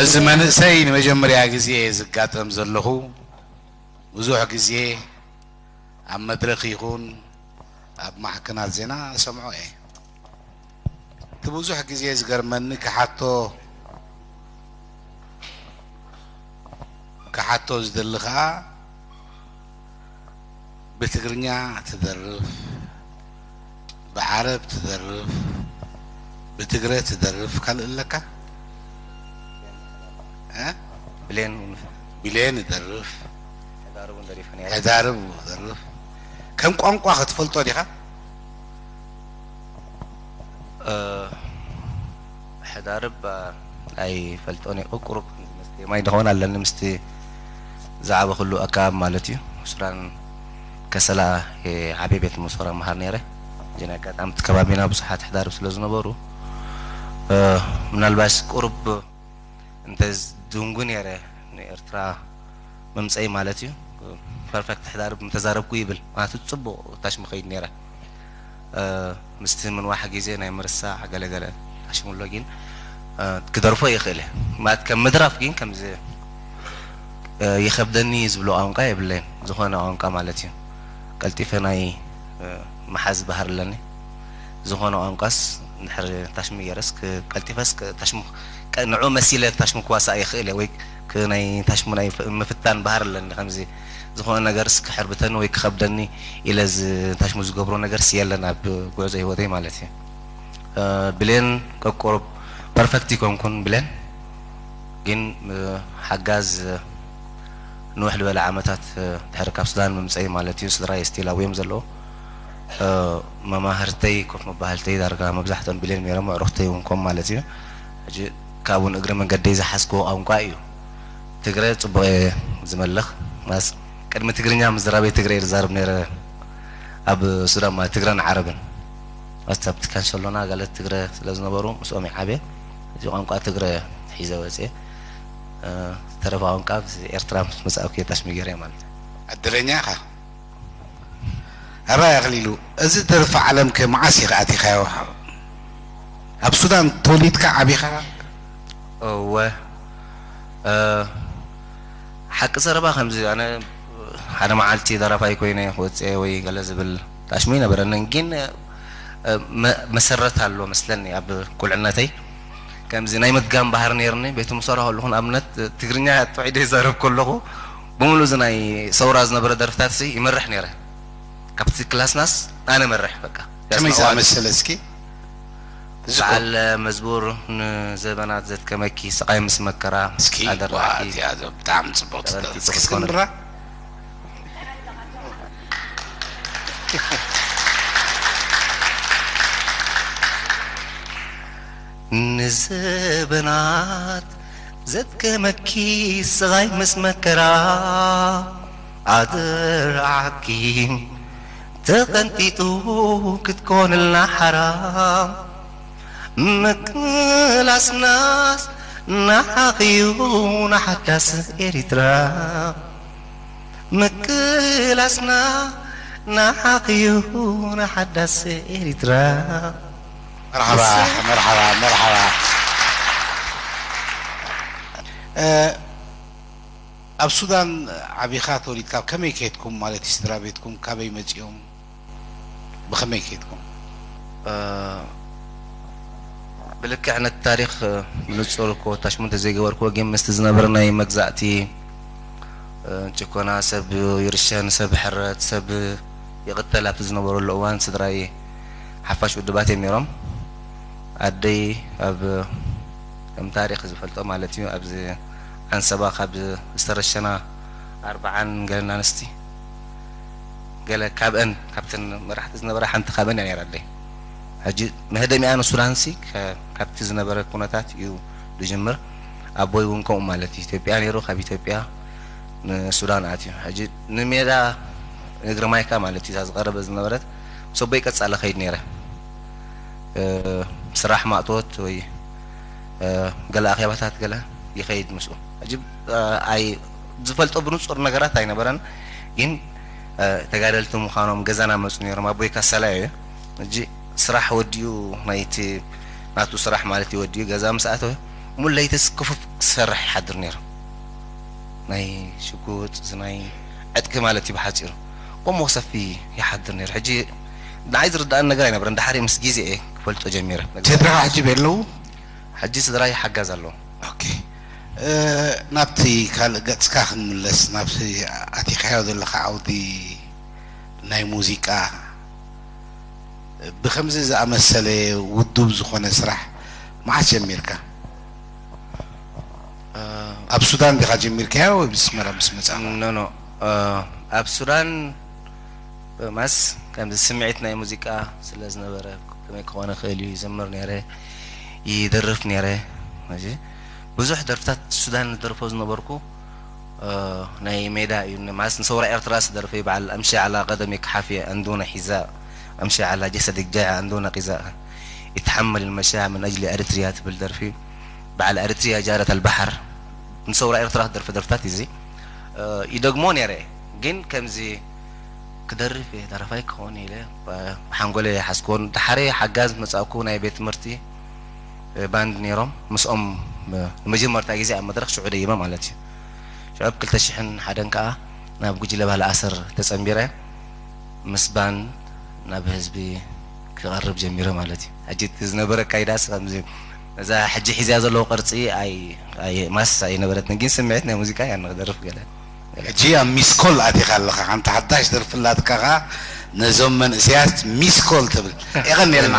እዚ መንእሰይ ንመጀመርያ ግዜ ዝጋጠም ዘለኹ፣ ብዙሕ ግዜ ኣብ መድረኽ ይኹን ኣብ ማዕከናት ዜና እሰምዖ እየ። እቲ ብዙሕ ግዜ ዝገርመኒ፣ ክሓቶ ክሓቶ ዝደሊ ከኣ፣ ብትግርኛ ትደርፍ፣ ብዓረብ ትደርፍ፣ ብትግረ ትደርፍ፣ ካልእ ኣለካ? እ? ብሌን እውን። ብሌን ይደርፍ። ሕዳርብ እውን ደሪፈ ነይረ። ሕዳርብ ይደርፍ። ከም ቋንቋ ክትፈልጦ ዲኻ? እ፣ ሕዳርብ፣ እ፣ ኣይፈልጦን እየ። ቁሩብ ምስቲ ማይ ደኾን ኣለኒ፣ ምስቲ ዝዓበኹሉ ኣከባቢ ማለት እዩ። ሱዳን ከሰላ፣ እ፣ ዓብየ ቤት መሰራ መሃር ነይረ። ግን ኣጋጣሚ እቲ ከባቢና ብዙሓት ሕዳርብ ስለ ዝነበሩ፣ እ፣ ምናልባሽ ቁሩብ እንተ ዝድንጉ ነይረ ንኤርትራ መምጸኢ ማለት እዩ። ፐርፌክት ሕዳርብ ምተዛረብኩ ይብል። ማለት ጽቡቕ ታሽሙ ከይድ ነይረ። እ፣ ምስቲ ምንዋሕ ግዜ ናይ ምርሳዕ ገለገለ ታሽሙ ኣሎ፣ ግን፣ እ፣ ክደርፎ ይኽእል እየ። ማለት ከም ምድራፍ ግን ከምዚ፣ እ፣ ይኸብደኒ ዝብሎ ቋንቋ የብለይን። ዝኾነ ቋንቋ ማለት እዩ። ቀልጢፈ ናይ፣ እ፣ ምሓዝ ባህሪ ኣለኒ። ዝኾነ ቋንቋስ እንድሕር ታሽሙ ገይረስ ክ-፣ ቀልጢፈስ ክ-፣ ታሽሙ ክ-፣ ንዕኡ መሲለ ታሽሙ ክዋሳእ ይኽእል እየ፣ ወይ ክ-፣ ናይ ታሽሙ ናይ ፍ-፣ ምፍታን ባህሪ ኣለኒ። ከምዚ ዝኾነ ነገርስ ክሕርብተኒ ወይ ክኸብደኒ ኢለ ዝ-፣ ታሽሙ ዝገብሮ ነገርስ የለን ኣብ ጉዕዞ ህይወተይ ማለት እዩ። እ፣ ብሌን ቀቆሮ ፐርፌክት ይኮንኩን ብሌን፣ ግን፣ እ፣ ሓጋዝ፣ እ፣ ንውሕ ዝበለ ዓመታት፣ እ፣ ድሕሪ ካብ ሱዳን ምምፀይ ማለት እዩ፣ ስድራይ ስቲል ኣብኡ እዮም ዘለዉ። እ፣ መማህርተይ፣ ኮፍ መባህልተይ ዳርጋ መብዛሕትኦም ብሌን ነይሮም፣ ኣዕሩኽተይ እውን ከም ማለት እዩ። ሕጂ ካብኡ ንእግሪ መንገደይ ዝሓዝክዎ ቋንቋ እዩ። ትግረ ጽቡቕ እየ ዝመልኽ። ማስ ቅድሚ ትግርኛ ምዝራበይ ትግረ እየ ዝዛረብ ነይረ ኣብ ሱዳን፣ ማለት ትግረን ዓረብን። ማስ ኣብቲ ካንሸሎና ገለ ትግረ ስለ ዝነበሩ ምስኦም እየ ዓብየ። እዚ ቋንቋ ትግረ ሒዘ ወፅየ። እ፣ ዝተረፈ ቋንቋ ኣብዚ ኤርትራ ምስ መጻእኩ እየ ታሽሙ ገይረ ማለት እዩ። ዕድለኛ ኢኻ። ኣባይ ኣኽሊሉ፣ እዚ ደርፊ ዓለምከ መዓስ ኢኻ ኣቲኻዮ? ኣብ ሱዳን ተወሊድካ ዓቢኻ? እወ፣ እ፣ ሓቂ ዘረባ ከምዚ፣ ኣነ ሓደ መዓልቲ ደራፋይ ኮይነ ክወፅእ ወይ ገለ ዝብል ታሽሙ ኣይነበረንን፣ ግን፣ እ፣ መ-፣ መሰረት ኣሎ መስለኒ ኣብ ቁልዕነተይ። ከምዚ ናይ ምድጋም ባህሪ ነይርኒ። ቤት ምሰራ ከለኹ ንኣብነት ትግርኛ ጥዑይ ዘይዛረብ ከለኹ፣ ብምሉእ እዚ ናይ ሰውራ ዝነበረ ደርፍታት ሲ ይመርሕ ነይረ። ካብቲ ክላስናስ ኣነ መርሕ በቃ። ከመይ ያስማዕዋል። ዝኣመሰለ እስኪ? እዚ በዓል መዝሙር ንዘበናት ዘድከመኪ ስቓይ ምስ መከራ እስኪ ኣደራኺ። ዋ፣ እዚኣ ብጣዕሚ ጽብቕቲ። ተቐልጢፉ እስኪ ክትኮነ። እስክንድራ። ንዘበናት ዘድከመኪ ስቓይ ምስ መከራ ኣደራዓኪ ተቐንጢጡ ክትኮንልና ሓራ ምቅላስናስ ንዓኺዩ ንሓዳስ ኤሪትራ ምቅላስና ንዓኺዩ ንሓዳስ ኤሪትራ። መርሓባ፣ መርሓባ፣ መርሓባ። እ፣ ኣብ ሱዳን ዓቢኻ ተወሊድካ፣ ከመይ ከድኩም ማለት እዩ? ስድራ ቤትኩም ካበይ መጺኦም? ብኸመይ ከድኩም? እ፣ ብልክዕ ነቲ ታሪኽ፣ እ፣ ብንጹር እኮ ታሽሙ እንተዘይገበርክዎ፣ ግን ምስቲ ዝነበረ ናይ መግዛእቲ፣ እ፣ ጭኮና፣ ሰብ ይርሸን፣ ሰብ ይሕረድ፣ ሰብ ይቕተል ኣብቲ ዝነበረሉ እዋን፣ ስድራይ ሓፋሽ ውድባት እዮም ነይሮም። ኣደይ ኣብ፣ ከም ታሪኽ ዝፈልጦ ማለት እዩ፣ ኣብዚ ዓንሰባ ካብ ዝተረሸና ኣርብዓን ገለን ኣንስቲ፣ ገለ ካብአን፣ ካብተን መራሕቲ ዝነበራ ሓንቲ ካብአን እያ ነይራ ኣደይ። ሕጂ መህደሚኣ ንሱዳንሲ ከ-፣ ካብቲ ዝነበረ ኩነታት እዩ ዝጅምር። ኣቦይ እውን ከምኡ ማለት እዩ። ኢትዮጵያ ነይሩ፣ ካብ ኢትዮጵያ ንሱዳን ኣትዩ። ሕጂ ንሜዳ እግሪ ማይካ ማለት እዩ፣ እዛ ዝቐረበ ዝነበረት፣ ምስ ኣቦይ ቀጻሊ ከይድ ነይረ። እ፣ ስራሕ ማእቶት ወይ፣ እ፣ ገለ ኣኼባታት ገለ ይኸይድ ምስኡ። ሕጂ፣ እ፣ ኣይ-፣ ዝፈልጦ ብንጹር ነገራት ኣይነበረን፣ ግን፣ እ፣ ተጋደልቲ ምዃኖም ገዛና መጹ ነይሮም። ኣቦይ ካሳላይ እዩ። ሕጂ ስራሕ ወዲኡ፣ ናይቲ ናቱ ስራሕ ማለት እዩ ወዲኡ፣ ገዛ ምስ ኣተወ፣ ሙሉ ለይትስ ክፉፍ ክሰርሕ ይሓድር ነይሩ። ናይ ሽጉጥ ናይ ዕጥቂ ማለት እዩ ብሓፂሩ። ቆሞ ክሰፊ ይሓድር ነይሩ። ሕጂ ንዓይ ዝርዳእን ነገር ኣይነበረን። ድሓሪ ምስ ግዜ እየ ክፈልጦ ጀሚረ። ስድራኻ ሕጂ ቤት ኣለዉ? ሕጂ ስድራይ ሓጋዝ ኣለዉ። ኦኬ። ናብቲ ካልእ ገጽካ ክንምለስ፣ ናብቲ ኣቲኻዮ ዘለኻ ዓውዲ ናይ ሙዚቃ፣ ብኸምዚ ዝኣመሰለ ውዱብ ዝኾነ ስራሕ መዓስ ጀሚርካ? ኣብ ሱዳን ዲኻ ጀሚርካዮ ወይ ብስመራ ምስ መጻኻ? ኖ ኖ፣ ኣብ ሱዳን ማስ ከምዚ ስምዒት ናይ ሙዚቃ ስለ ዝነበረ፣ ከመይ ክኾነ ክእል እዩ፣ ይዘምር ነይረ፣ ይደርፍ ነይረ። ሕጂ ብዙሕ ደርፍታት ሱዳን ዝደርፎ ዝነበርኩ ናይ ሜዳ እዩ። ማስ ንሰውራ ኤርትራ ዝደርፈ እዩ። በዓል ኣምሺ ዓላ ቀደም ክሓፊ ኣንዱነ ሒዛ፣ ኣምሺ ዓላ ጀሰድ ጃ ኣንዱነ ቂዛ ይትሓመል መሻ ምን ኣጅሊ ኤርትሪያ ትብል ደርፊ በዓል ኤርትሪያ ጃረት ኣልባሕር ንሰውራ ኤርትራ ክደርፈ ደርፍታት እዩ። እዚ ይደግሞ ነይረ፣ ግን ከምዚ ክደርፍ እየ፣ ደራፋይ ክኸውን ኢለ ብሓንጎለ ሓስኮን። ድሓረ ሓጋዝ መጻእኩ፣ ናይ ቤት ትምህርቲ ባንድ ነይሮም፣ ምስኦም ንመጀመርታ ግዜ ኣብ መድረኽ ሽዑ ደይመ ማለት እዩ። ሽዑ ኣብ ክልተ ሽሕን ሓደን ከኣ ናብ ጉጅለ ባህሊ ኣሰር ተጸንቢረ፣ ምስ ባንድ ናብ ህዝቢ ክቐርብ ጀሚረ ማለት እዩ። ሕጂ እቲ ዝነበረ ኣካይዳስ ከምዚ፣ እዛ ሕጂ ሒዝያ ዘለኹ ቅርጺ ኣይ ኣይ ማስ ኣይነበረትን፣ ግን ስምዒት ናይ ሙዚቃ እያ ንክደርፍ ገለ ገለ። ሕጂ ኣብ ሚስኮል ኣቲኻ ኣለኻ፣ ሓንቲ ሓዳሽ ደርፊ ኣላትካ ኸኣ ነዞም መንእሰያት ሚስኮል ትብል። የቐንየልና።